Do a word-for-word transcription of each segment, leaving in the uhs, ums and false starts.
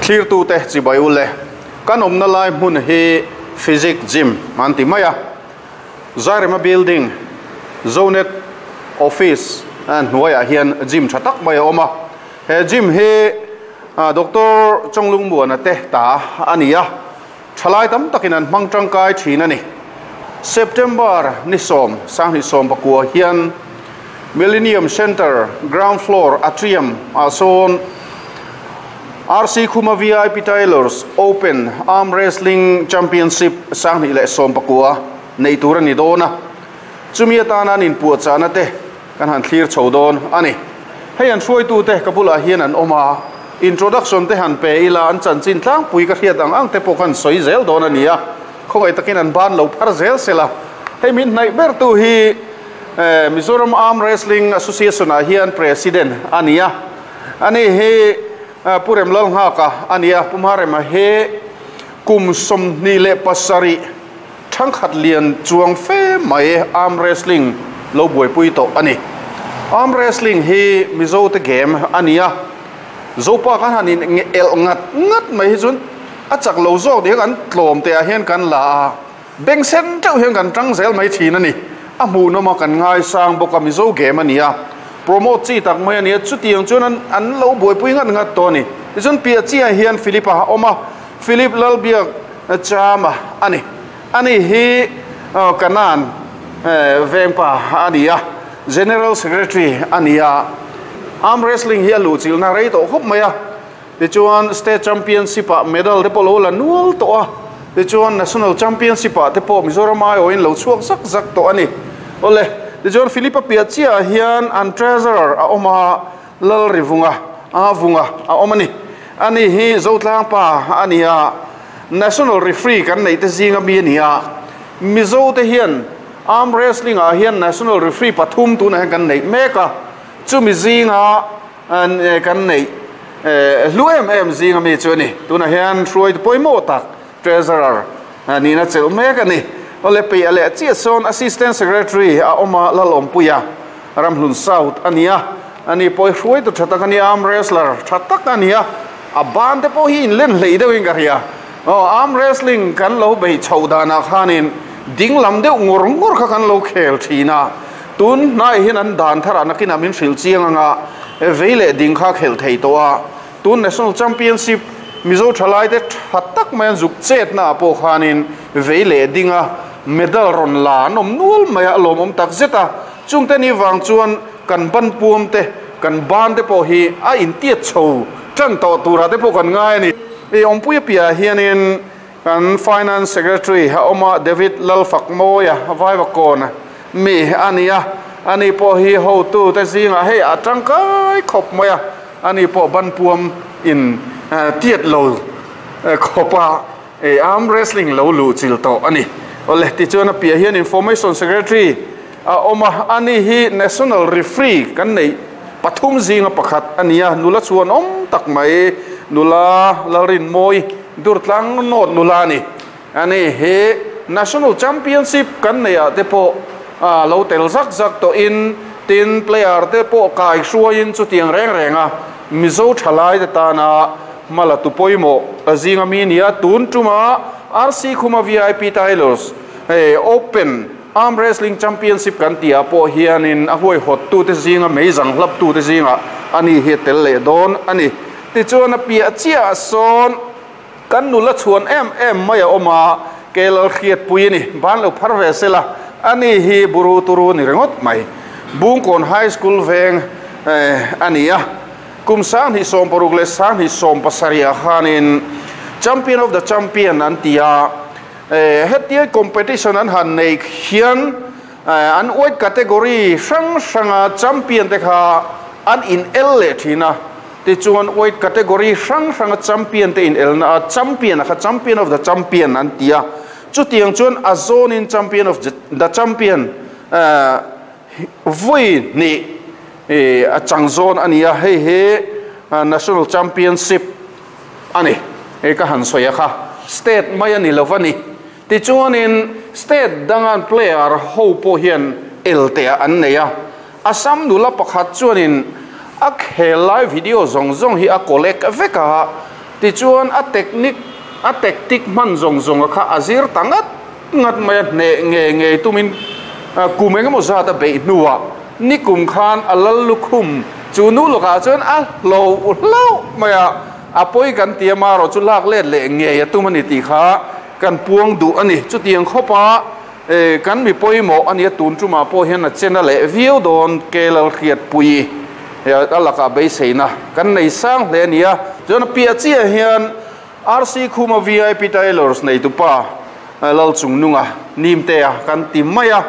Thlir tu te chibai ule kan awmna lai hmun hi physics gym an ti mai a Zairema building Zonet office an hnuaiah hian gym tha tak mai a awm a he gym hi Doctor Chonglung Muana te ta ani a thalai tam takin an hmang tangkai thin ani September ni som sang ni som pakua hian Millennium Center ground floor atrium a sawn R C Khuma V I P Tailors Open Arm Wrestling Championship sang ni le som pakua nei tur ani dona chumi atana nin pu chana te kan han thlir chodon ani hei an hruai tu te kapula hian an oma introduction te han pe ila an chan chin tlang pui ka hriat ang ang te pawh kan soi zel don ania khawai takin an ban lo phar zel sela hei min nai ber tu hi Mizoram Arm Wrestling Association a hian president ania ani he Purem lal nga ka ania pumharema he kum som ni le pasari thangkhat lian chuang fe mai arm wrestling lo buai pui to ani arm wrestling hi Mizo te game ania zopa kan hanin el ngat ngat mai hi chun a chak lo zawk ding an tlom te a hian kan la beng sen teuh hian kan tang zel mai thin ani a hmu no ma kan ngai sang boka Mizo game ania promote chi tak mai ania chutiang chuan an an lo buai pui ngat ngat to ni tichuan pia chi a hian Philipa oma Philip Lalbiak chama ani ani hi kanan vengpa ania General Secretary ania arm wrestling hi a lu chil na rei to khop mai a tichuan state championship a medal te pawh lo la nual to a tichuan national championship a te pawh Mizoram ai awin lo chhuak zak zak to ani ole tichuan Philipa pia chia hian an treasurer a oma lal rivunga a vunga a omani ani hi zotlang pa ania national referee kan nei te zinga mi ania Mizo te hian arm wrestling a hian national referee pathum tu na kan nei meka chumi zinga an kan nei lu em em zinga mi chu ani tuna hian hruai poimo tak treasurer ani na chel mek ani ole pe ale chi son assistant secretary a oma lalom puya Ramhlun South ania ani poi hruai tu thatak ani arm wrestler thatak ania a ban te po hi in len hlei deuh in ka ria oh arm wrestling kan lo bei chodana khanin ding lam deuh ngur ngur kha kan lo khel thina tun nai hin an dan thara nakina min hril chiang anga veile ding kha khel thei to a tun national championship Mizo thalai te thatak mai an zuk chet na po khanin veile dinga medal ron la nom nual mai a lom om tak zeta chungte ni wang chuan kan ban puam te kan ban te po hi a in tiat chho tran to tura te po kan ngai ni e ompui pia hianin kan finance secretary ha oma David Lalfak moya vaiwa kona mi ania ani po hi ho tu te zinga hei a tangkai khop maya ani po ban puam in tiat lo khopa e arm wrestling lo lu chil to ani ole ti chuan a pia hian information secretary a oma ani hi national referee kan nei pathum zinga pakhat ania nula chuan om tak mai nula lalrin moi durtlang not nula ni ani he national championship kan nei a te po a lo tel zak zak to in tin player te po kai hruain chu tiang reng renga Mizo thalai te tana mala tu poimo azinga mi nia tun tuma R C Khuma V I P Tailors hey Open Arm Wrestling Championship kan tia po hianin a huai hot tu te zinga meizang hlap tu te zinga ani he tel le don ani ti chuan a pia chia son kan nula chuan em em mai a oma kelal khiat pui ni ban lo phar ve sela ani hi buru turu ni rengot mai Bungkon High School veng ania kum sang hi som paruk le sang hi som pasaria khanin champion of the champion an tia hetia competition an han nei hian an weight category sang sanga champion te kha an in el le thina ti chuan weight category sang sanga champion te in el na champion kha champion of the champion an tia chutiang chuan a zone in champion of the champion voi ni e a chang zone ania hei he national championship ani e ka han soya kha state mai ani lovani ti chuanin state dangan player ho po hian elte an neia Assam nula pakhat chuanin a khel live video zong zong hi a collect veka Ti chuan a technique a tactic man zong zong kha azir tangat ngat mai ne nge nge tumin kum engemaw zat a beih hnuah ni kum khan a lal lukhum chu nu lokah chuan a lo hlo mai a a pawi kan tia ma ro chu lak let leh nge a tum ani tih kha kan puang duh ani. Chutiang khawpa kan mi pawimawh ani a tun tumah pawh hian a chena leh viau dawn ke lal hriat pui a lakah beiseina kan nei sang hle ani a. Chuan a piah chiah hian R C Khuma V I P Tailors nei tupa lal chung nunga nimtea kan ti mai a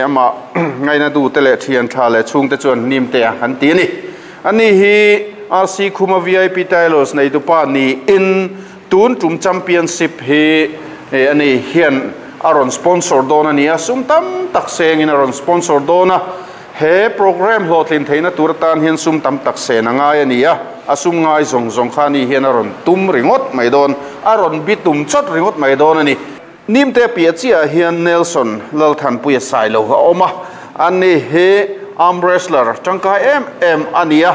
ama ngaina du te leh thian tha leh chhung te chuan nimtea kan ti ani. Ani hi R C Khuma V I P Tailors nei tupa ni in tun tum championship hi ani hian aron sponsor don ani a sum tam tak sengin aron sponsor dona he program hlotlin theina turatan hian sum tam tak sen angai ani a asum ngai zong zong khani hian aron tum ringot mai don aron bitum chot ringot mai don ani. Nimte pia chia hian Nelson Lalthan puia sailo ha oma ani he arm wrestler tangkai em em ania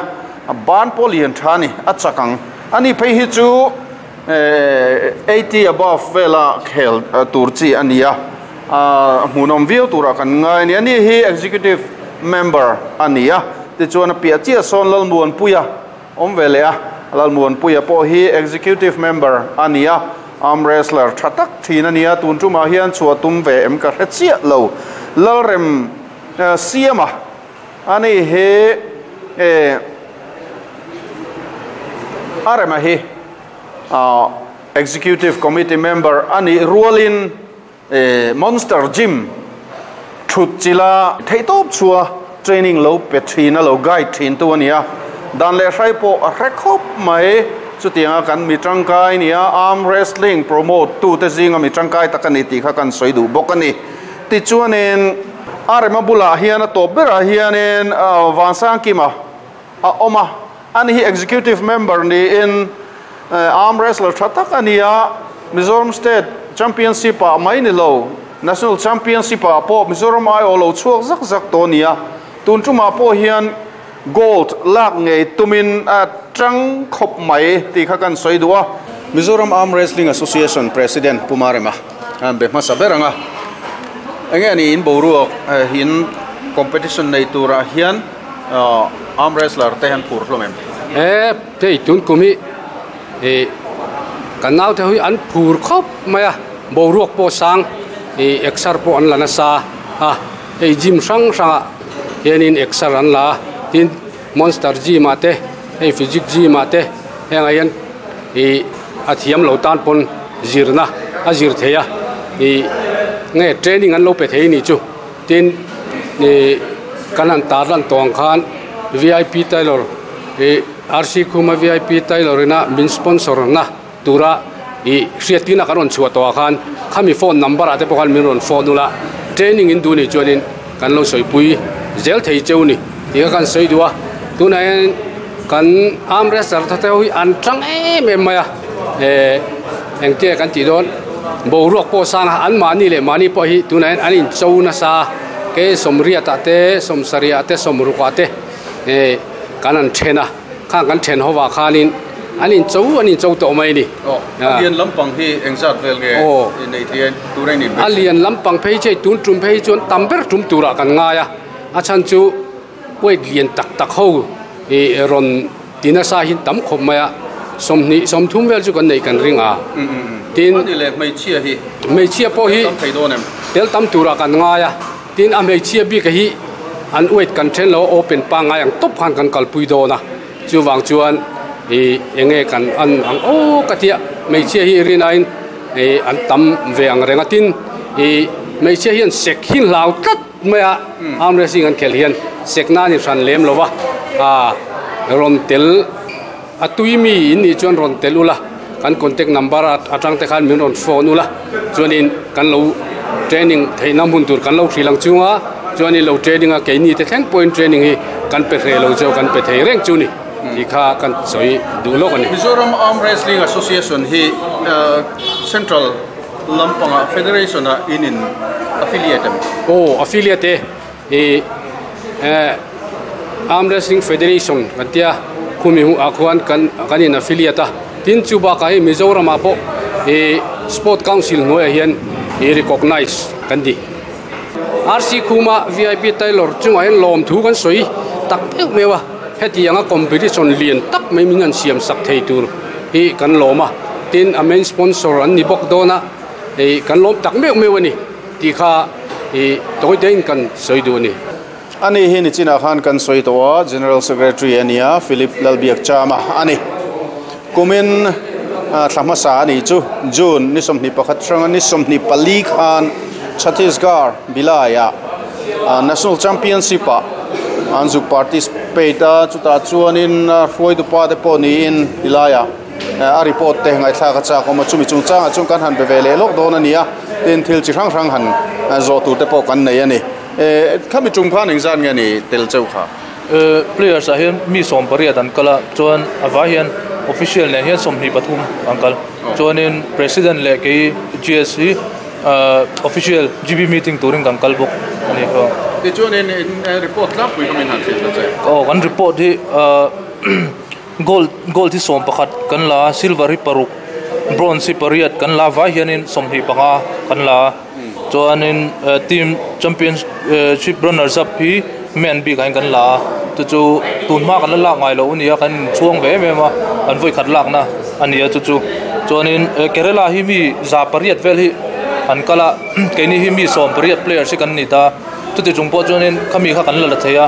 ban polian thani a chakang ani phei hi chu eighty above vela khel turchi ania a hmunom viau tura kan ngai ni. Ani hi executive member ania ti chuan a pia chia son Lalmuan puia om velea Lalmuan puia pawh hi executive member ania arm wrestler thatak thin ania tun tuma hian chua tum ve em ka hre lo Lalrem siama ani he e arema hi executive committee member ani rualin Monster Gym thut chila theitop chua training lo pe thina lo guide thin tu ania dan le hrai po a hrekhop mai chutianga kan mi tangkai nia arm wrestling promote tu te zinga mi tangkai takani ti kha kan soi du bok ani. Ti chuanin arema bula hian a top bera hianin vansang kima a oma ani hi executive member ni in arm wrestler thatak ania Mizoram State Championship a mai ni lo National Championship a po Mizoram ai lo chuak zak zak to nia tun tuma po hian gold lak ngei tumin a tang khop mai ti kha kan soi duwa. Mizoram Arm Wrestling Association President Pumarema an be hmasa beranga enge ani in boruak hin competition nei tura hian arm wrestler te han phur hlom em e te tun kumi e kanau te hui an phur khop maya boruak po sang e exar po an lana sa ha e gym sang sanga hianin exar an la tin Monster Gym ate hei Physique Gym ate henga hian e a thiam lo tan pon zirna a zir theia e nge training an lo pe thei ni chu tin e kanan tarlan tong khan V I P Tailor e R C Khuma V I P Tailor ina min sponsor na tura e hriatina karon chua to khan khami phone number ate pokhan min ron phone ula training in du ni chuanin kan lo soipui zel thei cheu ni ti kan soi duwa tuna kan arm wrestler the hui an tang em em maya e engte kan ti don boruak po sang an mani le mani po hi tuna an in chona sa ke somria ta te somsaria te somruka te e kanan thena kha kan then howa khanin anin chau anin chau to mai ni a lian lampang hi engzat vel nge nei thian turai ni a lian lampang phei che tun tum phei chuan tamber tum tura kan nga ya a chan chu weight lian tak tak ho e ron tina sa hin tam khop maya somni somthum vel chu kan nei kan ringa tin ani le mai chia hi mai chia po hi tam thei don em tel tam tura kan nga ya tin a mai chia bi ka hi an weight kan then lo open pa nga yang top khan kan kalpui do na chu wang chuan e enge kan an ang o katia mai chia hi ri nine e an tam ve ang renga tin e mai chia hian sek hin lau tat maya arm wrestling an khel hian sekna ni ran lem lowa a ron tel atui mi in ni chuan ron tel ula kan contact number atang te khan min ron phone ula chuanin kan lo training theina mun tur kan lo thrilang chunga chuanin lo training a keini te thleng point training hi kan pe hre lo cheu kan pe thei reng chu ni ti kha kan soi du lo ani. Mizoram Arm Wrestling Association hi Central Lampanga Federation a in in affiliate oh affiliate e Arm Wrestling Federation katia khumi hu akhuan kan kan in affiliate Tin chu ba ka hi Mizoram ah pawh e Sport Council hnuaiah hian i recognize kan ni. R C Khuma V I P Tailor chungah hian lawm thu kan sawi tak meuh meuh a, hetianga competition lian tak mai min an siam sak thei tur hi kan lawm a. Tin a main sponsor an ni bawk dawn a, e kan lawm tak meuh meuh ani ti kha e tawite in kan sawi duh ani. Ani hi ni china khan kan sawi to a, General Secretary ania Philip Lalbiak Chama ani. Kumin thlama sa ani chu June ni sawmhnih pakhat hranga ni sawmhnih pali khan Chhattisgarh Bilaya National Championship a anzuk participate a, chuta chuanin hruai dupa te pawh niin Bilaya a report te ngai thla ka cha kawma chumi chungchang a chung kan han be ve leh lawk dawn ania. Tin thil chi hrang hrang han zawh tur te pawh kan nei ani. E khami tum khan engzan nge ni tel cheu kha players a hian mi sawm pariat an kala chuan awa hian official ne hian sawmhnih pathum an kal chuanin president leh kei G S hi official G B meeting turin kan kal bawk ani kha. Ti chuanin report tlangpui khamin han thil ta che. Oh kan report hi gold gold hi sawm pakhat kan la, silver hi paruk, bronze hi pariat kan la, vai hianin sawmhnih panga kan la. Chuanin team championship runners up hi men bik ain kan la, chu chu tun ma kan la lak ngai lo ania, kan chuang ve em a an voi khat lak na ania chu chu. Chuanin Kerala hi mi za pariat vel hi an kala, keini hi mi sawm pariat players hi kan ni ta. Chuti chung pawh chuanin khami kha kan la la theia,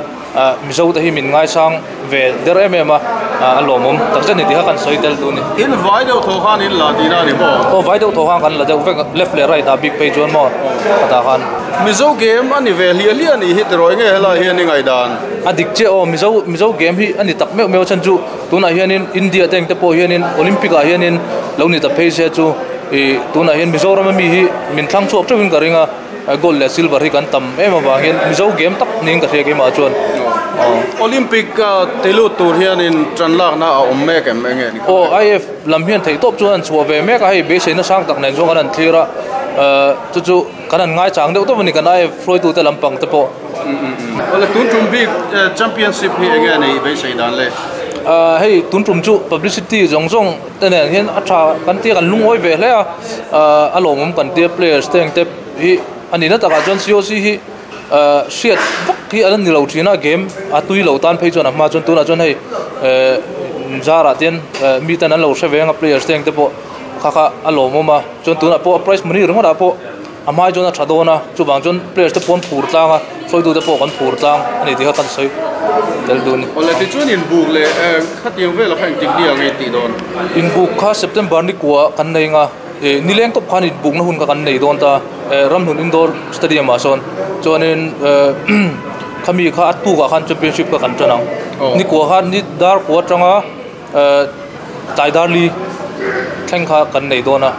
Mizo te hi min ngai sang ve der em em a, a lawmawm takzet ni ti kha kan sawi tel tu ni. In vai deuh tho khan in la tina ni maw? Aw vai deuh tho khan kan la deuh vek, left leh right a big phei chuan maw ata khan. Mizo game ani ve hliah hliah ni hi tiroi nge helai hian ni ngai dan. A dik che aw Mizo Mizo game hi ani tak meuh meuh chan chu tunah hianin India teng te pawh hianin Olympic ah hianin lo ni ta phei se chu e tunah hian Mizoram ami hi min thlang chhuak teuhin ka ringa, gold leh silver hi kan tam em awang hian Mizo game tak ning ka hria keimah chuan. Olympic telu tur hianin tran lak na a awm mek em enge ni. Aw I F lam hian thei tawp chuan an chhuah ve mek a, hei beisei na sang tak nen chuan kan an thlir a, chu chu kan an ngai chang deuh tawp ani kan I F hruaitu te lampang te pawh. Wala tun tum bik championship hi enge nei beisei dan le. Hei tun tum chu publicity zawng zawng te nen hian a tha kan tia kan lungawi ve hle a, a lawmawm kan tia players te ang te hi ani na takah chuan C O C hi hriat vak hi an ni lo thina game a tui lo tan phei chuan a hma chuan tunah chuan hei zarah ten mi ten an lo hre venga players te ang te pawh kha kha a lawmawm a, chuan tunah pawh prize money ringawtah pawh a hmai chuan a tha dawn a, chuvang chuan players te pawh an phur tlang a, hruaitu te pawh kan phur tlang ani ti kha kan sawi tel duh ni. Awle ti chuan inbuk leh khatiang vela kha engtik ni ang tih dawn. Inbuk kha September ni kua kan nei nga nileng tawp khan inbuk na hun kha kan nei dawn ta Ramhlun Indoor Stadium ah sawn chuanin khami kha a tukah khan championship kha kan tan ang. Ni kua khan ni dar kua atanga tlai dar li thleng kha kan nei dawn a,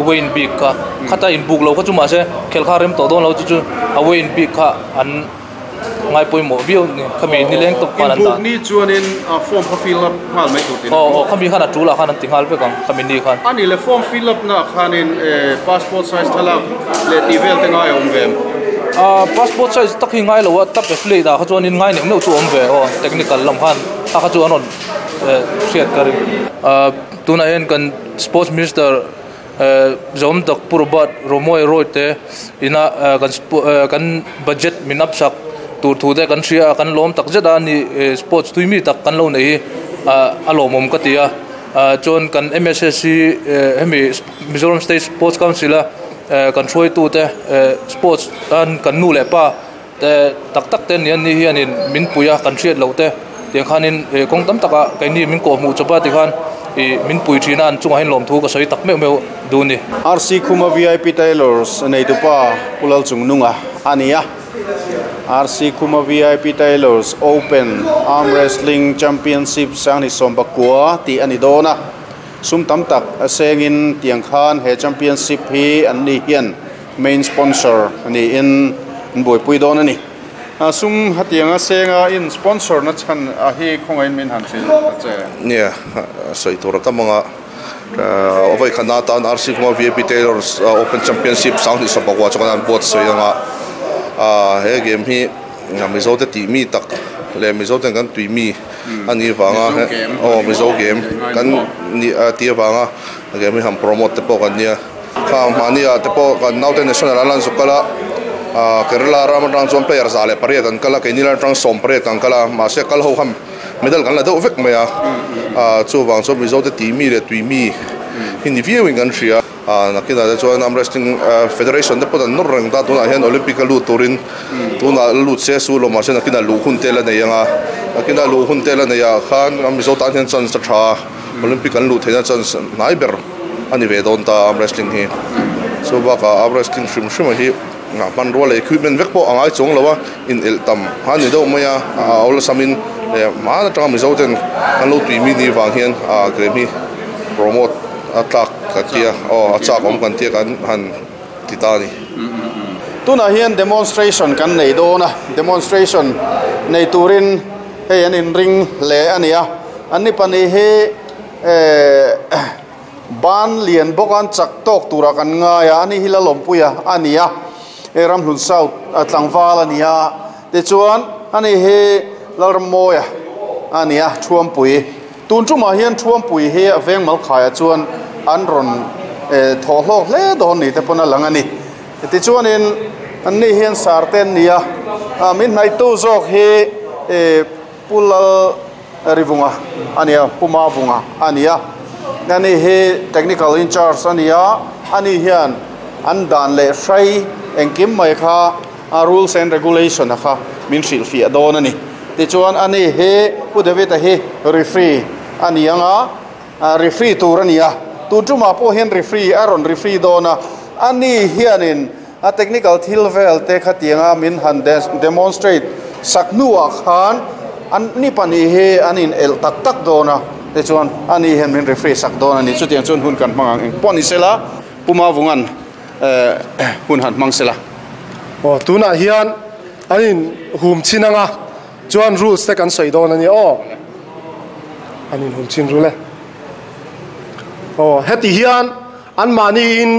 Wayne bik kha khata inbuk lo kha chu mahse khel kha rem tawh dawn lo chu chu a Wayne bik kha an ngai pawimawh viau ni khami nileng tawp khan an dah. Inbuk ni chuanin form kha fill up nghal mai tur tin. Aw aw khami khan a tul ah khan an ti nghal vek ang khami ni khan. Ani le form fill up na khanin passport size thalak leh ti vel te ngai awm ve. Passport size tak hi ngai lo a, tap affiliate ah kha chuanin ngai neuh neuh chu awm ve aw technical lam khan a kha chu an rawn hriat ka ring. Tunah hian kan sports minister Zawm tak Purbat Romoi Roy te ina kan kan budget min up sak tur thu te kan hria kan lawm tak zet a ni sports tui mi tak kan lo nei hi a lawmawm ka ti a. Chuan kan M S S C hemi Mizoram State Sports Council a kan hruaitu te sports an kan nu leh pa te tak tak te ni an ni hianin min pui a kan hriat lo te tiang khanin kawng tam taka keini min kawh hmuh chawpa ti khan min pui thina an chungah hian lawm thu ka sawi tak meuh meuh duh ni. R C Khuma V I P Tailors nei tupa Pulal Chungnunga ania. R C Khuma V I P Tailors Open Arm Wrestling Championship sangni sawmpakua ti ani dawna. Sum tam tak sengin tiang khan he championship hi an ni hian main sponsor ani in buaipui dawn ani. Sum hatianga senga in sponsor na chan a hi khongain min han sil che. Nia sawi tur tamanga avai khana tan R C Khuma V I P Tailors Open Championship sangni sawmpakua chuan an buat sawi anga a he game hi Mizo te ti mi tak le Mizo ten kan tui mi Ani wanga o Mizo game kan ni ti wanga game hi ham promote te pawh kan nia kha mania te pawh kan naute national alan zukala a Kerala ram atang chuan player za le pariat an kala keini lam atang sawm pariat kan kala mahse kal ho ham medal kan la deuh vek mai a a chu wang chu Mizo te ti mi le tui mi hi ni viewing kan hria a nakina te chuan arm wrestling federation te pawh an nawr reng ta tunah hian Olympic a lut turin tuna lut se su lo mahse nakina lu hun te la nei anga nakina lu hun te la nei ah khan Mizo tan hian chance tha Olympic an lut theihna chance hnai ber ani ve dawn ta arm wrestling hi chu bakah arm wrestling hrim hrim hi nga hman rual equipment vek pawh angai chuang lo a in el tam han ni deuh mai a a awla samin le ma atanga Mizo ten an lo tui mi ni wang hian a game hi promote a tlak ka tia aw a chak awm kan tia kan han ti ta ni. Tunah hian demonstration kan nei dawn a demonstration nei turin hei an in ring le ania an ni pahnih hi eh ban lian bawk an chak tawk tura kan ngai a ani hi la lawmpuia ania e Ramhlun South tlangval ania tichuan ani hi Lalrammawia ania Thuampui tun tumah hian Thuampui hi a veng mal khaia chuan an rawn thaw hlawk hle dawn ni te pawn a lang ani tichuanin an ni hian sarten nia min hnaitu zawk hi Pulal Rivunga ania Puma Vunga ania ani hi technical in charge ania ani hian an dan leh hrai engkim mai kha rules and regulation a kha min hrilh fiah dawn ani tichuan ani hi Pu David a hi referee ani anga referee tur ania tun tumah pawh hian referee a rawn referee dawn a ani hianin a technical thil vel te kha tianga min han demonstrate sak hnuah khan an ni pahnih hi an in el tak tak dawn a tichuan ani hian min referee sak dawn ani chutiang chuan hun kan hmang ang eng pawh ni sela Puma Vungan hun han hmang sela. O tunah hian an in hum chin anga chuan rules te kan sawi dawn ani aw an in hum chin rule o heti hian an mahni in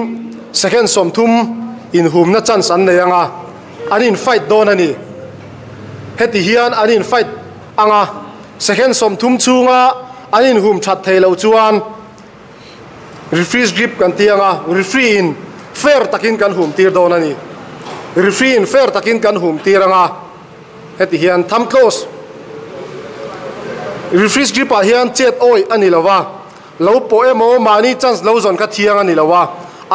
second sawmthum in humna chance an nei anga an in fight dawn ani heti hian an in fight anga second sawmthum chunga an in hum that thei lo chuan referee's grip kan ti anga referee in fair takin kan hum tir dawn ani referee in fair takin kan hum tir anga heti hian thumb close referee's grip ah hian chet oi ani lova lo po emo mani chance lo zon kha thiang ani lova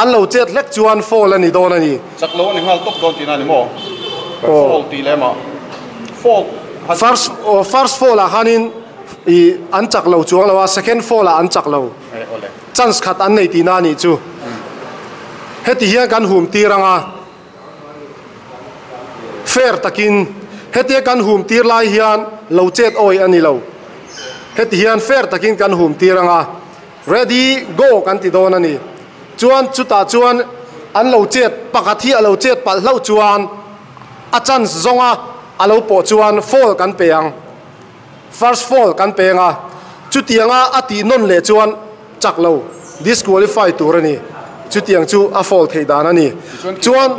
an lo chet hlek chuan foul ani dawn ani chak lo ani ngal top dawn tina ni mo foul ti lema foul first first foul ah hanin i an chak lo chuang lowa second foul ah an chak lo chance khat an nei ti na ni chu heti hian kan hum tir anga fair takin heti kan hum tir lai hian lo chet oi ani lo heti hian fair takin kan hum tir anga ready go kan ti dawn ani chuan chuta chuan an lo chet pakhat hi a lo chet palh hlo chuan a chance zawnga a lo pawh chuan foul kan pe ang first foul kan pe anga chutianga a ti nawn leh chuan chak lo disqualify tur ani chutiang chu a foul thei dan ani chuan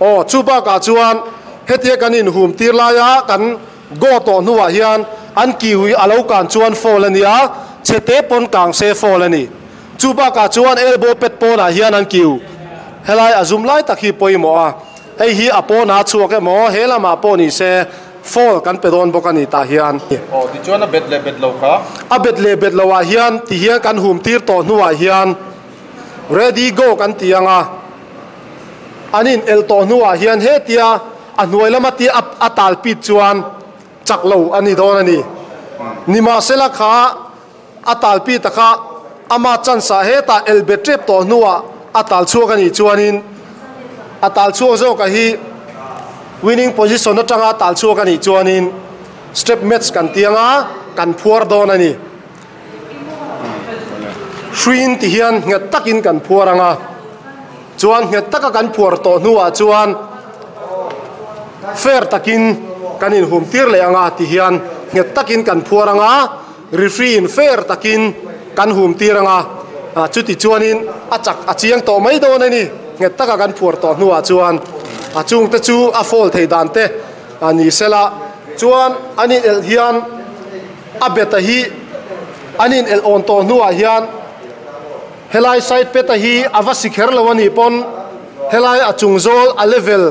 aw chu bakah chuan hetia kan in hum tir laia kan go tawh hnuah hian an kiui a lo kan chuan foul ani a chete pawn kang se foul ani chu bakah chuan elbow pet pawnah hian an kiu helai a zum lai tak hi pawimawh a hei hi a pawna chhuak emaw he lamah pawh ni se foul kan pe dawn bawk ani tah hian aw tichuan a bet leh bet lo kha a bet leh bet lo ah hian ti hian kan hum tir tawh hnuah hian ready go kan ti anga anin el tawh hnuah hian hetia a hnuai lama ti a tal pit chuan chak lo ani dawn ani nimahsela kha a tal pit kha ama chance ah heta el bet tep tawh hnuah a tal chhuak ani chuanin a tal chhuak zawk a hi winning position atanga tal chhuak ani chuanin step match kan tianga kan phuar dawn ani hruin ti hian nghet takin kan phuar anga chuan nghet taka kan phuar tawh hnuah chuan fair takin kan in hum tir leh anga ti hian nghet takin kan phuar anga referee in fair takin kan hum tir anga chuti chuanin a chak a chiang tawh mai dawn ani nghet taka kan phuar tawh hnuah chuan a chung te chu a foul thei dan te ani sela chuan ani el hian A beta hi anin el on to nuwa hian helai side peta hi awa sikher lo ani pon helai achung zol a level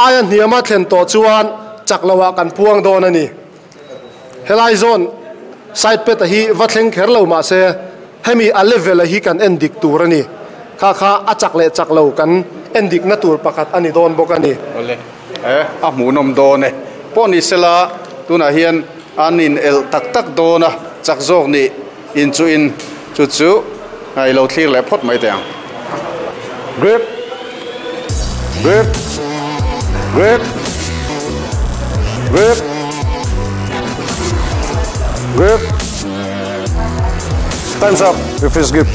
ayan hiama thlen to chuan chaklawa kan puang don ani helai zone side peta hi va thleng kher lo ma se hemi a level a hi kan en dik tur ani kha kha a chak le chak lo kan en dik na tur pakhat ani don bok ani ole eh a mu nom don e poni sela tuna hian anin el tak tak dona chak zok ni in chu in chu chu ai lo thlir le phot mai te ang grip grip grip grip grip time's up with his grip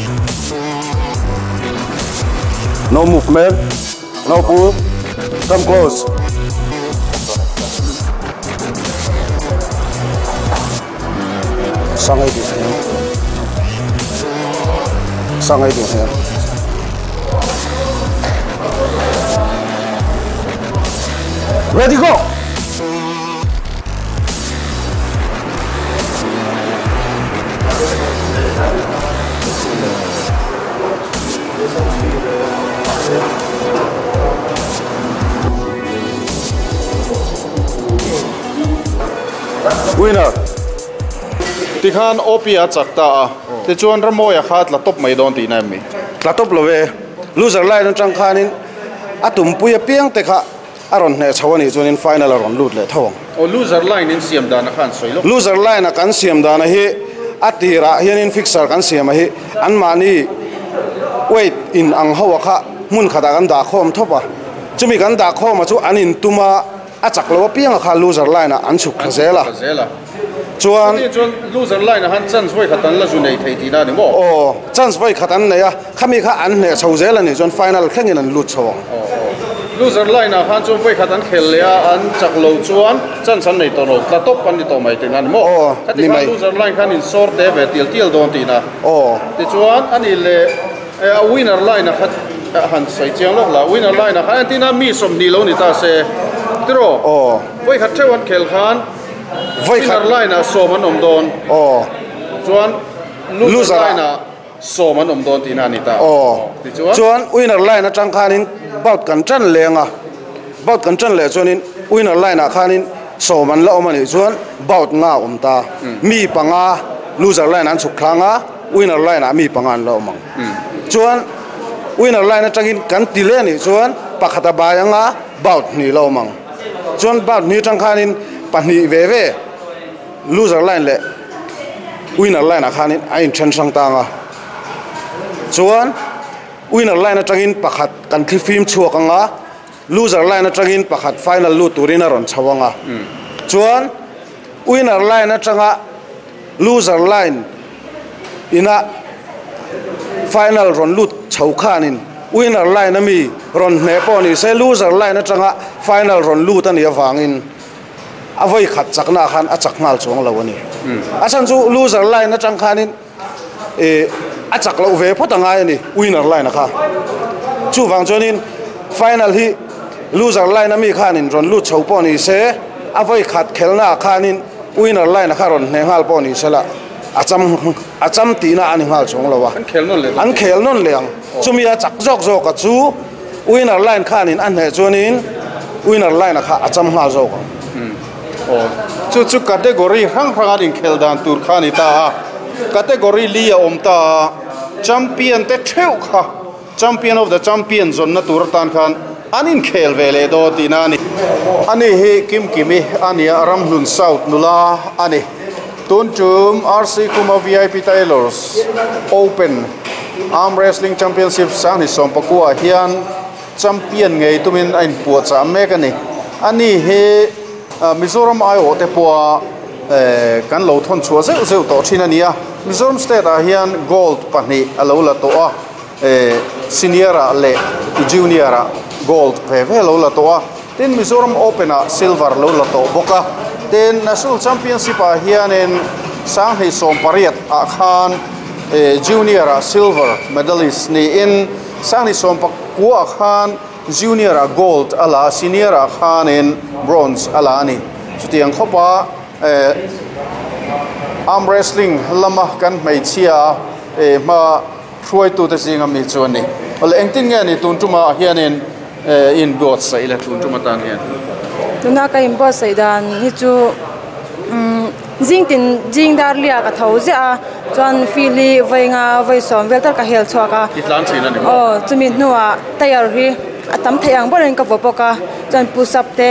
no movement no pull come close sangai du hian sangai du hian ready go winner tikhan opia chakta a te chuan ramoya khat la top mai don ti na mi la top love loser line atang khanin atum puia piang te kha aron hne chawani chuanin final aron lut le thawang o loser line in siam dan khan soilo loser line a kan siam dan hi atira hianin fixer kan siam a hi an mani weight in ang hawa kha mun khata kan da khom thopa chumi kan da khom a chu anin tuma a chak lo piang kha loser line a an chuk khazela chuan chuan loser line a han chance voi khatan la zu nei thei ti na ni mo o chance voi khatan nei a khami kha an hne chho zel ani chuan final thlengin an lut chhawang loser line a han chuan voi khatan khel le a an chak lo chuan chance an nei to no tla top an ni to mai ti na ni mo o ni mai loser line khan in sort te ve til til don ti na o ti chuan ani le a winner line a khat han sei chiang lok la winner line a khan ti na mi som ni lo ni ta se tro o voi khat thewan khel khan voi khat line a som an om don o chuan loser line a som an om don ti na ni ta o ti chuan chuan winner line atang khanin bout kan tran lenga bout kan tran le chuanin winner line a khanin som an la om ani chuan bout nga om ta mi panga loser line an chuk thlanga winner line a mi panga an la omang chuan winner line atangin kan ti le ni chuan pakhata bayanga bout ni lo omang chuan bout ni tang khanin pahnih ve ve loser line le winner line a khanin a in then sang tanga chuan winner line atangin pakhat kan thlifim chuak anga loser line atangin pakhat final lu turin a ron chawanga chuan winner line atanga loser line ina final ron lut chho khanin winner line ami ron hne pawh ni se loser line atanga final ron lut ani awangin avoi khat chakna khan a chak ngal chuang lo ani a chan chu loser line atang khanin e a chak lo ve phot angai ani winner line kha chu wang chuanin final hi loser line ami khanin ron lut chho pawh ni se avoi khat khelna khanin winner line kha ron hne ngal pawh ni sela acham acham ti na ani ngal chuang lo wa an khel non le an khel non leang chumi a chak jok jok a chu winner line khanin an hne chuanin winner line kha acham ngal jok o chu chu category rang rang in khel dan tur khani ta category li a om ta champion te theu kha champion of the champion zon na tur tan khan anin khel ve le do ti na ni ani hi kim kimi ania Ramhlun South nula ani tun chum R C Kuma V I P Tailors Open Arm Wrestling Championship sang ni som pakua hian champion ngei tumin ain puwa cha mek ani ani hi Mizoram ai o te puwa kan lo thon chua zeu zeu to thin ania Mizoram state a hian gold pahnih alo la to a senior a le junior a gold ve ve lo la to a tin Mizoram Open a silver lo la to boka tin national championship a hianin sang hei som pariat a khan junior a silver medalist ni in sang ni som pakua khan junior a gold ala senior a khanin bronze ala ani chutiang khopa Arm wrestling lama kan hmeichhia e ma hruai tu te zinga mi chu ani. Ole engtin nge ni tun tuma hianin in buat sai le tun tuma tan hian. Tuna ka in buat sai dan hi chu jing tin jing dar lia ka tho zia chuan fili vainga vaisom vel tar ka hel chuaka itlan china ni oh chumi nuwa tayar hi atam theyang boren ka vopoka chuan push up te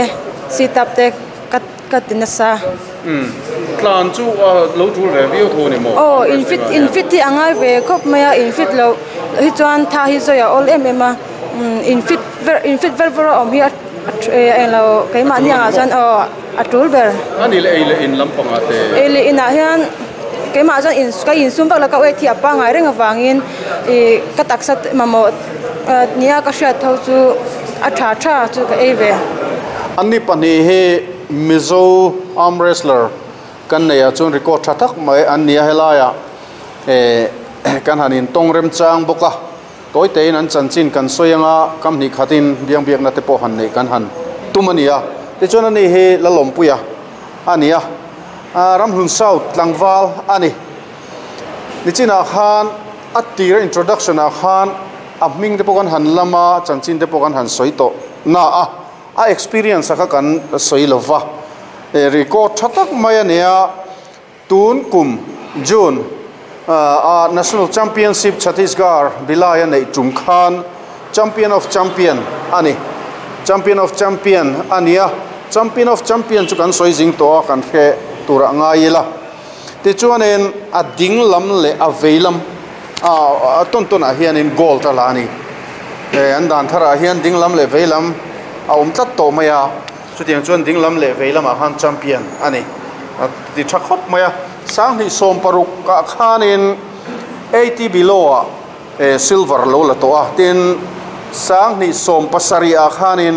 sit up te kat katina sa um tlan chu lo tul ve viu thu ni mo oh in fit in fit ti angai ve khop maya in fit lo hi chuan tha hi zoya all em em a in fit ver in fit ver ver om hi en lo keima ni anga chuan oh atul ber ani le eile in lampanga te eile ina hian keima chuan in ka in sum bak la ka we thi apa ngai reng awangin e ka taksat mamo nia ka hriat tho chu a tha tha chu ka ei ve anni pani he Mizo arm wrestler kan nei a chuan record tha tak mai an nia helaya e kan hanin tong rem chang boka toi tein an chanchin kan soyanga kam ni khatin biang biak na te po han nei kan han tumania te chuan ani he lalompuia ania Ramhlun South tlangwal ani nichina khan atira introduction a khan a hming te pawh kan han lama chanchin te pawh kan han sawi tawh na a a experience kha kan sawi lova e record tha tak mai ania tun kum June a National Championship Chhattisgarh Bilaya nei tum khan champion of champion ani champion of champion ania champion of champion chu kan sawi jing to kan khe tura ngai la ti chuanin a ding lam le a veilam a ton ton a hianin gold ta la ani e an dan thara hian ding lam le veilam a um tlat to maya chutiang chuan ding lam le veilam a han champion ani ti tha khop maya sang ni som paruk ka khanin eighty below a e silver lo la to a tin sang ni som pasari a khanin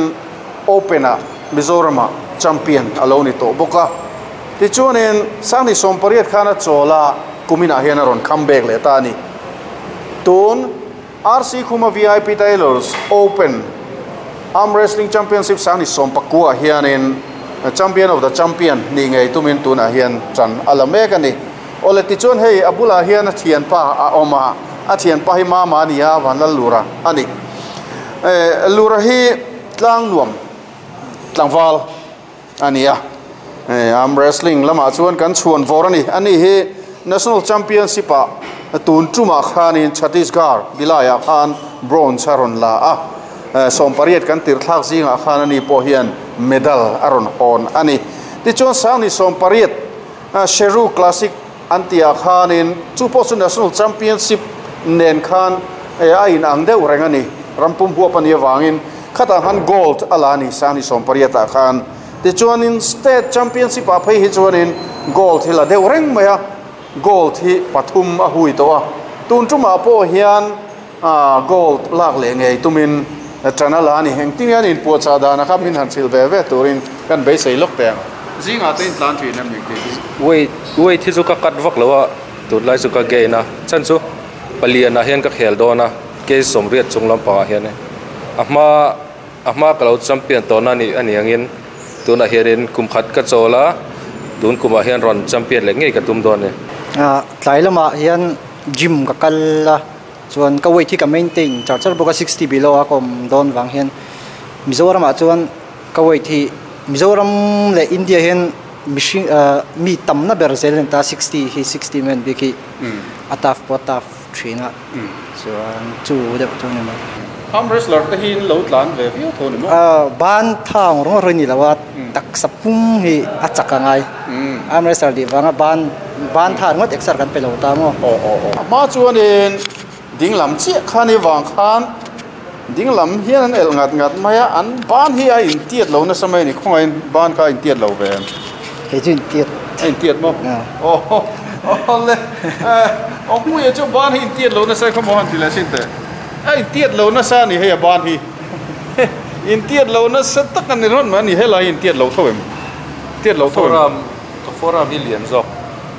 open a Mizoram champion alo ni to boka ti chuanin sang ni som pariat khana chola kumina hian a ron comeback le ta ni tun R C Khuma V I P Tailors Open Arm Wrestling Championship sang ni som pakua hianin champion of the champion ni ngei tumin tuna hian chan alamek ani ole ti chuan hei abula hian a thian pa a oma a thian pa hi ma ma nia vanlal lura ani e lura hi tlang nuam tlangwal ania e arm wrestling lama chuan kan chuan vor ani ani hi national championship a tun tuma khanin Chhattisgarh Bilaya khan bronze aron la a som pariat kan tir thlak zinga khan ani po hian medal aron hon ani ti chuan sang ni som pariat Sheru Classic antia khanin chu po chu national championship nen khan a in ang deuh reng ani rampum huap ani awangin khata han gold ala ni sang ni som pariat a khan ti chuanin state championship a phei hi chuanin gold hi la deuh reng mai a gold hi pathum a hui to a tun tuma po hian a gold lak le ngei tumin chanala ani heng ting hian in puacha dana kha min han thil ve ve turin kan beisei lok te zinga te in tlan thin em ning ti weight weight hi chu ka kat vak lowa tun lai chu ka gain a chan chu palian a hian ka khel dona ke somriat chung lampangah hian a hma a hma ka lo champion tawna ni ani angin tuna hianin kum khat ka chawla tun kumah hian ron champion leh ngei ka tum dawn ni a tlai lama hian gym ka kal la chuan ka weight hi ka maintain char char boka sixty below a kom dawn wang hian Mizoram ah chuan ka weight hi Mizoram le India hian machine mi tamna ber zel ta sixty hi sixty men bi khi ataf po taf thina chuan chu deuh chu ni mai arm wrestler te hin lo tlan ve viu tho ni mo a ban thang rong roi ni lawa tak sapum hi a chaka ngai arm wrestler di wanga ban ban than ngot exer kan pe lo ta mo o o o ma chuanin ding lam chi khani wang khan ding lam hian an el ngat ngat maya an ban hi a in tiat lo na samai ni khongai ban kha in tiat lo ve ke chin tiat in tiat mo o o le o mu ye chu ban hi in tiat lo na sai kho mo han ti la sin te ai tiat lo na sa ni he ban hi in tiat lo na sa tak an ron ma ni he la in tiat lo tho em tiat lo tho foram ka foram hi lian zok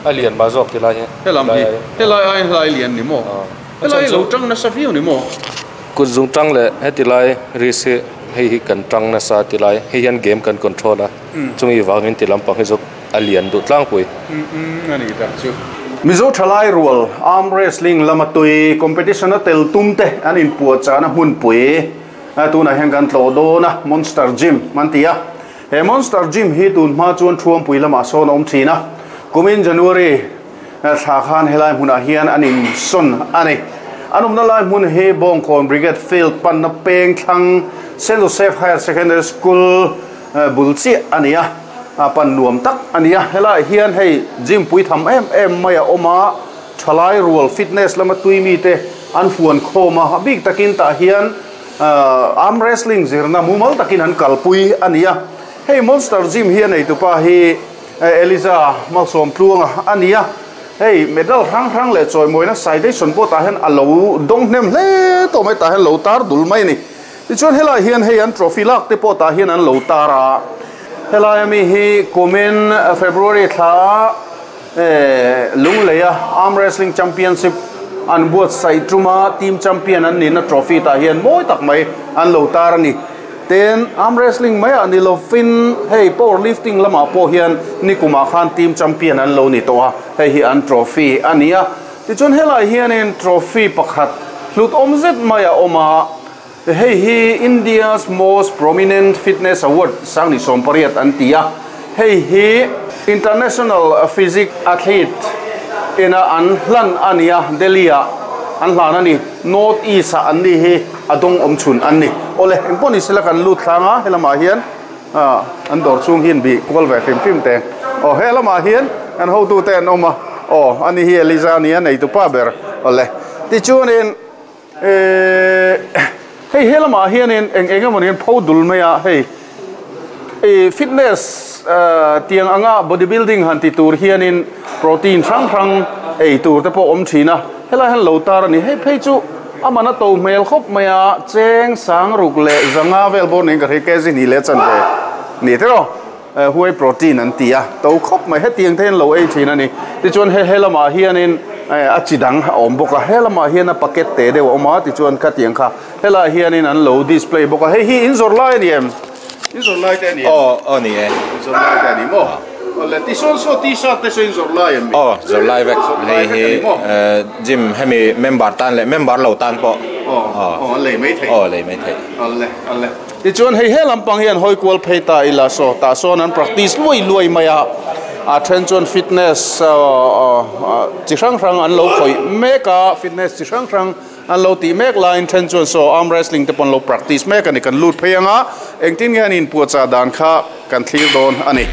a lian ma zok ti lai he he lam hi he lai ai lai lian ni mo he lai lo tang na sa viu ni mo kut zung tang le he ti lai ri se hei hi kan tang na sa ti lai hei hian game kan control a chungi wangin ti lampang hi zok A lian du tlang pui. Ani tak chu. Mizo thalai rual arm wrestling lamatui competition a tel tumte an in puachana hmun pui tuna hian kan tlo dona Monster Gym mantia he Monster Gym hi tun hma chuan thuam pui lama sawn awm thina kumin January thla khan helai hmunah hian an in son ani anumna lai hmun hi Bawngkawn Brigade Field panna peng thlang Saint Joseph Higher Secondary School bulchi ania pan nuam tak ania helai hian hei gym pui tham em em mai a awma thalai rual fitness lama tui mi te an fuan khoma bik takin ta hian arm wrestling zirna mumal takin an kalpui ania hei Monster Gym hian ei tupa hi Eliza Malsom Tluanga ania hei medal rang rang le choi moina citation pawh tah hian alo dawng hnem hle tawh mai tah hian lo tar dul mai ni tichuan helai hian hei an trophy lak te pawh tah hian an lo tar a helai ami hi kumin February thla lungleia arm wrestling championship an buat sai tuma team champion an ni na trophy tah hian mawi tak mai an lo tar ani ten arm wrestling mai ani lo fin hei power lifting lama pawh hian nikuma khan team champion an lo ni to a hei hi an trophy ania tichuan helai hianin trophy pakhat hlut awm zet mai a awm a hei hi India's most prominent fitness award sangni sawmpariat an ti a hei hi international physique athlete ina an hlan ania Delhi a an hlan ani North East a an ni hi adong awm chhun an ni ole engpawh ni sela kan lut thlanga helamah hian an dawr chhung hian bi kual ve hrim hrim te aw helamah hian an hotu te an awm a aw ani hi Eliza ani a nei tupa ber ole tichuanin hei helamah hianin eng eng emawni hian pho dul mai a hei fitness tiang anga bodybuilding han ti tur hianin protein hrang hrang ei tur te pawh awm thin a helai hian lo tar ani hei phei chu amana to hmel khawp mai a cheng sang ruk leh zanga vel bawr niin ka hre kg ni leh chan ve ni tero whey protein an ti a to khawp mai hetiang te hian lo ei thin ani tichuan he helamah hianin a chi dang a awm bawk a helamah hian a packet te deuh a awm a tichuan kha tiang kha helai hianin an lo display bawk a hei hi in zawrh lai ani em in zawrh lai te ani em aw aw ni e in zawrh lai te ani maw ole ti sawn saw t-shirt te saw in zawrh lai em aw zawrh lai vek hei hi gym hemi member tan leh member lo tan pawh aw aw an lei mai thei aw lei mai thei alle alle tichuan hei he lampang hian hawi kual phei ta ila saw tah sawn an practice luai luai mai a a then chuan fitness chi hrang hrang an lo khawih mek a fitness chi hrang hrang an lo tih mek laiin then chuan saw arm wrestling te pawh an lo practice mek ani kan lut phei anga engtin nge an inpuahchah dan kha kan thlir dawn ani.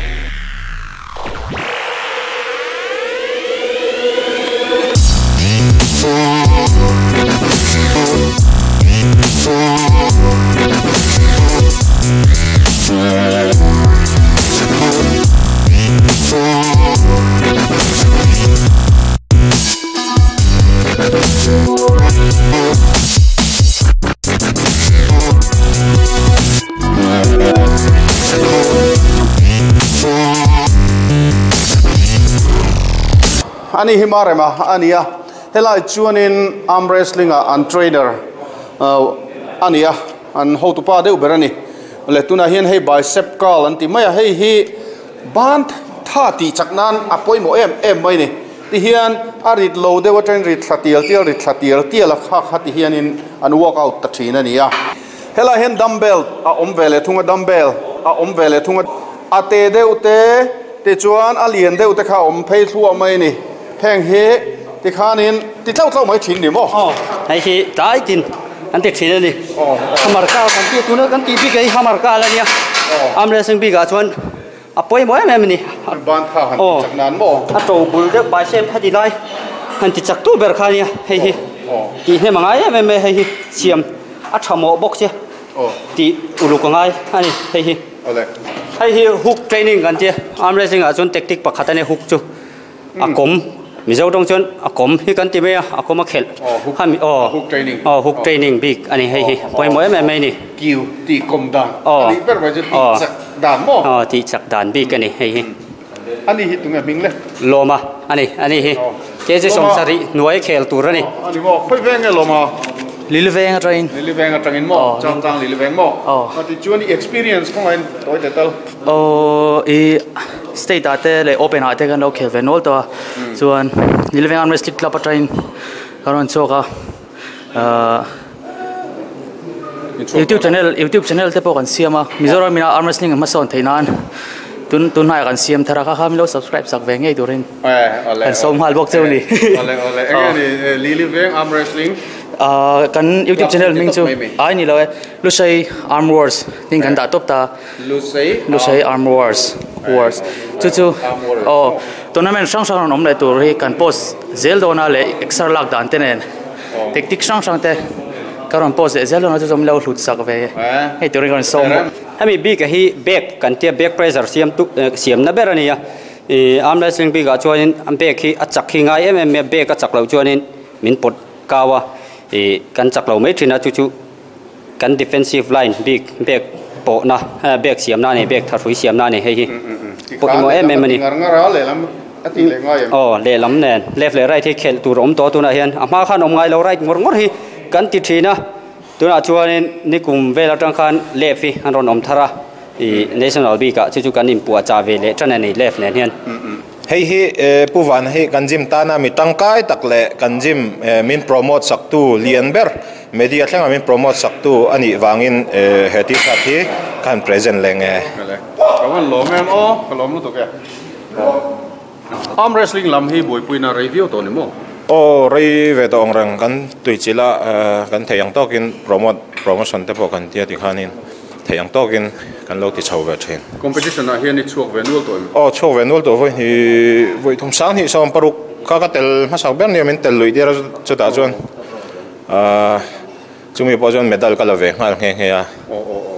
Ani hi marema ania helai chuanin arm wrestling a an trainer ania an hotupa deuh ber ani le tuna hian hei bicep curl an ti mai a hei hi ban tha ti chaknan a pawimawh em em mai ni ti hian a rit lo deuh atangin rit thla tial tial rit thla tial tial a kha kha ti hianin an workout ta thin ani a helai hian dumbbell a awm ve leh thunga dumbbell a awm ve leh thunga a te deuh te ti chuan a lian deuh te kha awm phei thluah mai ni heng hi ti khanin ti tlau tlau mai thin ni maw aw hei hi tlai tin an ti thin ani hamar kal kan ti tuna kan ti bik hei hamar kal ania arm wrestling bikah chuan a pawimawh em em ani ban tha han ti chak nan maw a to bul deuh bicep heti lai han ti chak tu ber kha ania hei hi ti hnem angai em em hei hi siam a tha mawh bawk che ti uluk angai ani hei hi hei hi hook training kan tia arm wrestling ah chuan tactic pakhat ani hook chu a kawm Mizo tawng chuan a kawm hi kan ti mai a a kawm a khelh hami aw hook training aw hook training bik ani hei hi pawimawh em em mai ni kiu ti kawm dan ani ber mai chu ti chak dan maw aw ti chak dan bik ani hei hi ani hi tunge hming le lawma ani ani hi kg sawmsarih hnuai khel tur ani ani maw khoi veng nge lawma Lili veng atangin Lili veng atangin maw changchang Lili veng maw ti chuan i experience khawngain toy te tal aw i State ate le open ate kan lo khel ve nol to chuan Liliveng Arm Wrestling Club atangin kan rawn chhuak a YouTube channel YouTube channel te pawh kan siam a Mizoram ina arm wrestling hmasawn theih nan tun tun hnaiah kan siam thar a kha kha min lo subscribe sak ve ngei turin kan sawm nghal bawk cheu ni ole ole enge ni Liliveng Arm Wrestling kan YouTube channel ming chu ai ni lo e Lusei Arm Wars ding kan dah top ta Lusei Lusei Arm Wars Wars chu chu oh tournament hrang hrang an awm leh tur hi kan post zel dawna leh exer lak dan te nen tactic hrang hrang te kan rawn post leh zel dawna chu chu min lo hlut sak ve hei turin kan rawn sawm bawk hemi bik hi back kan tia back pressure siam tu siam na ber ani a arm wrestling bik ah chuanin an back hi a chak hi ngai em em mai a back a chak loh chuanin min pawt kau a kan chak lo mai thin a chu chu kan defensive line bik back pawh na back siam na ani back tha hrui siam na ani hei hi pawimawh em em ani aw lehlam nen left leh right hi khelh tur awm tawh tunah hian a hma khan awm ngai lo right ngawr ngawr hi kan ti thin a tunah chuanin nikum vel atang khan left hi an rawn awm thar a national bik ah chu chu kan inpuah chah ve leh tan ani left nen hian hei hi puvan hi kan gym tana mi tangkai tak leh kan gym min promote sak tu lian ber media thlenga min promote sak tu ani wangin he t-shirt hi kan present leng e kawan lom em o ka lom lu tok e arm wrestling lam hi buipuina review to ni mo o rei ve to ong rang kan tuichila kan theiang tokin promote promotion te pawh kan tia ti khanin theiang tokin kan lo ti chho ve thin competition ah hian i chhuak ve nual to em o chhuak ve nual to voi hi voi thum sang hi som paruk ka ka tel hmasak ber ni min tel lui dira chutah chuan a chumi pawh chuan medal ka la ve nghal nghe nghe a o o o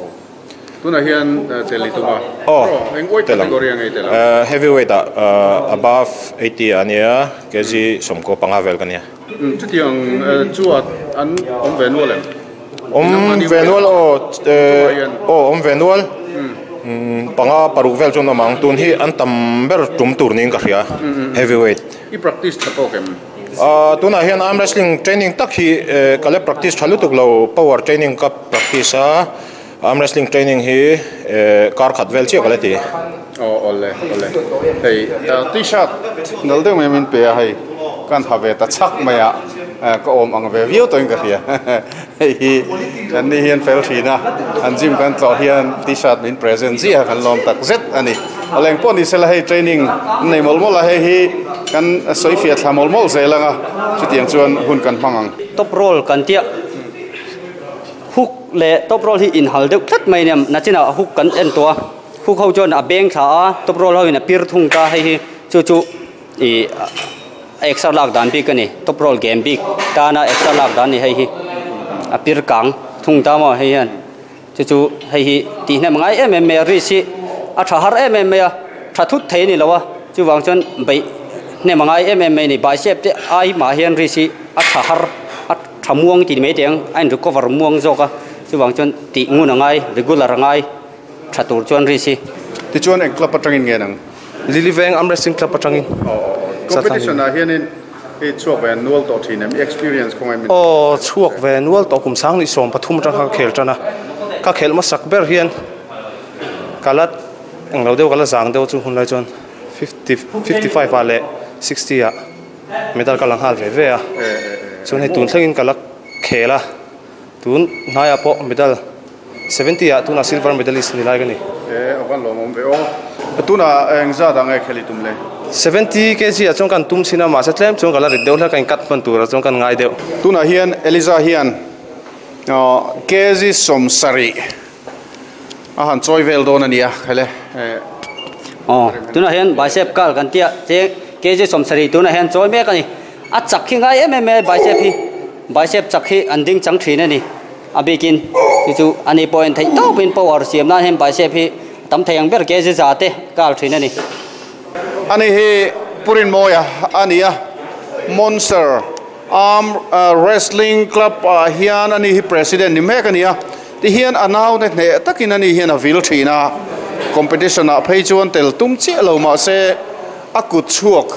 tunah hian tel i tuma o eng weight category ang ei tel a heavyweight ah above eighty ania kg sawmkaw panga vel ka nia chutiang chuat an awm ve nual em awm ve nual o o awm ve nual panga paruk vel chuan awm ang tun hi an tam ber tum tur niin ka hria heavyweight i practice tha tawk em tunah hian arm wrestling training tak hi ka le practice tha lutuk lo power training ka practice a arm wrestling training hi kar khat vel chiah ka le ti o ole ole hei t-shirt nal deuh mai min pe a hei kan ha ve ta chak mai a ka awm ang ve viau tawhin ka hria hei hi an ni hian fel thin a an gym kan tlawh hian t-shirt min present zia kan lawm tak zet ani aleng pawh ni sela hei training nei mawlh mawlh a hei hi kan sawi fiah thla mawlh mawlh zel anga chutiang chuan hun kan hmang ang top roll kan tia hook le top roll hi inhal deuh tlat mai nia nachinah hook kan en tawh a hook ho chuan a beng thla a top roll ho in a pir thung ta hei hi chu chu ih extra lak dan bik ani top roll game bik tana extra lak dan ni hei hi a pir kang thung ta maw hei hian chu chu hei hi tih hnem ngai em em mai a ri si a tha har em em mai a tha thut thei ni lo a chuwang chuan bei hnem ngai em em mai ni bicep te ai ma hian ri si a tha har a tha muang ti mai teng a in recover muang zawk a chuwang chuan tih ngun angai regular angai tha tur chuan ri si ti chuan eng club atangin nge nang Liliveng Arm Wrestling Club atangin competition ah hianin i chhuak ve nual tawh thin em experience khawngai min o chhuak ve nual tawh kum sang ni sawm pathum atang kha khel tana ka khel masak ber hian kalat eng lo deuh kala zang deuh chu hun lai chuan fifty fifty-five a le sixty a medal ka lang hal ve ve a chuan hei tun thlengin kala khel a tun hnaiah pawh medal seventy a tuna silver medalist ni lai ka ni e awan lawm awm ve o tuna eng zat ang e kheli tum le seventy kg a chuan kan tum china ma se tlem chuan kala rit deuh hlek kan cut man tur a chuan kan ngai deuh tuna hian Eliza hian kg som sari a han choi vel dawn ania khele oh tuna hian bicep kal kan tia che kg som sari tuna hian choi mek ani a chak hi ngai em em bicep hi bicep chak hi an ding chang thin ani a bikin chu chu ani point thei tawpin power siam nan hian bicep hi tam thei ang ber kg za te kal thin ani ani hi purin moya ania Monster Arm Wrestling Club hian ani hi president ni mek ania ti hian anaw te hne takin ani hian a vil thina competition a phei chuan tel tum chi lo ma se a kut chuak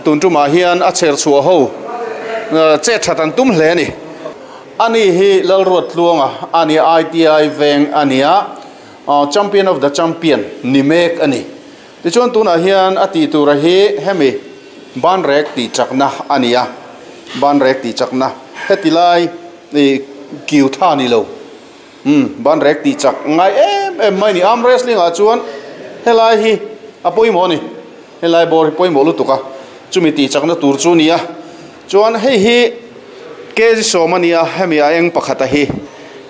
tun tuma hian a cher chhuah ho che thatan tum hle ni ani hi lalruat tluanga ani I T I veng ania champion of the champion ni mek ani Ti chuan tunah hian a tih tura hi hemi ban rek ti chakna ania ban rek ti chakna heti lai kiu tha ni lo um ban rek ti chak ngai em em mai ni arm wrestling ah chuan helai hi a pawimawh ni helai bawr hi pawimawh lutuk a chumi ti chakna tur chu nia chuan hei hi kg sawm ania hemi a eng pakhat a hi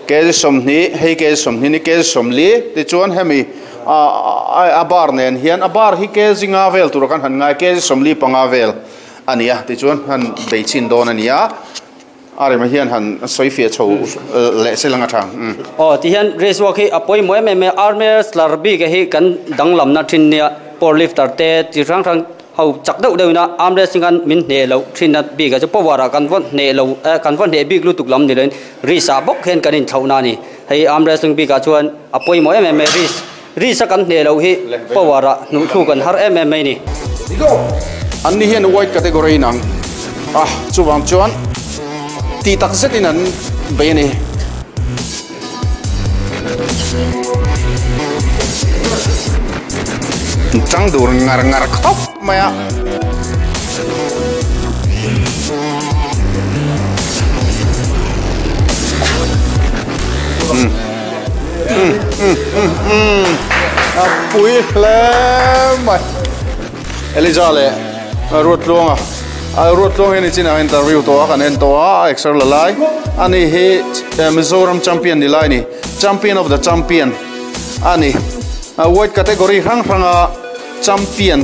kg sawmhnih hei kg sawmhnih ni kg sawmli ti chuan hemi a a bar nen hian a bar hi kg nga vel tur kan han ngai kg sawmli panga vel ania ti chuan han beichin dawn ania are ma hian han soifia chho le selanga thang o ti hian race walk hi apoi moi me me arm wrestler bi ke hi kan danglam na thin nia power lifter te chi rang rang hau chak deuh deuh na arm wrestling an min hne lo thin na bi ka chu power a kan von hne lo kan von hne bik lu tuk lam ni len risa bok hen kan in thauna ni hei arm wrestling bi ka chuan apoi moi me me ris risa kan hne lo hi power a nu thu kan har em em mai ni an ni hian white category nang ah chuwang chuan ti tak zetin an be ni chang dur ngar ngar khop maya mm mm mm mm a pui hle mai Eliza le ruat luanga a ruat luang hi chin a interview to a kan en to a exer la lai ani hi Mizoram champion ni lai ni champion of the champion ani a weight category rang ranga champion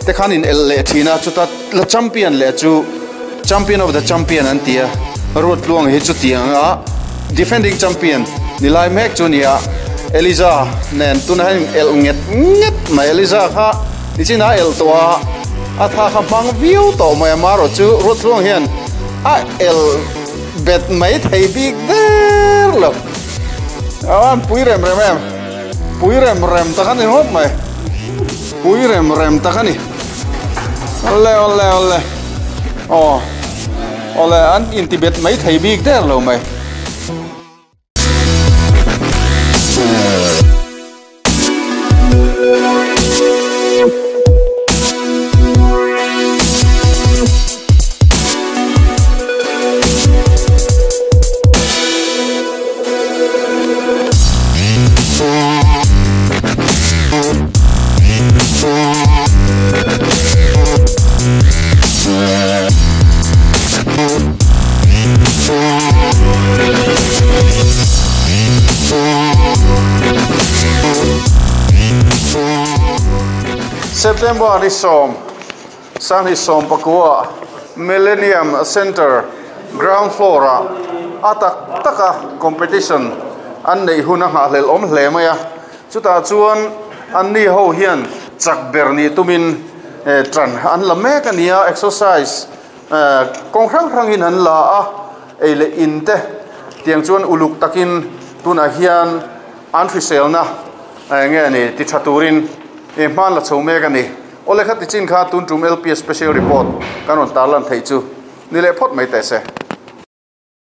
te khanin el le thina chuta la champion le chu champion of the champion an tia ruat luang hi chu tianga defending champion ni lai mek chu nia Eliza nen tuna hin el nget nget mai Eliza kha ni china el to a a tha kha mang viu to mai maro chu ruat luang hian a el bet mai thei big der lo awan pui rem rem em pui rem rem ta khan ni hop mai pui rem rem ta khan ni ole ole ole oh ole an in tibet mai thei big der lo mai. September ni som sang ni som pakua Millennium Center ground floor a atak taka competition an nei huna ha hlel om hle maya chuta chuan an ni ho hian chak ber ni tumin tran an la mek ania exercise kong rang rangin an la a eile in te tiang chuan uluk takin tuna hian an hrisel na nge ni ti thaturin e man la chho mek ani ole khat ti chin kha tun tum L P S special report kanon tarlan thei chu nile phot mai te se.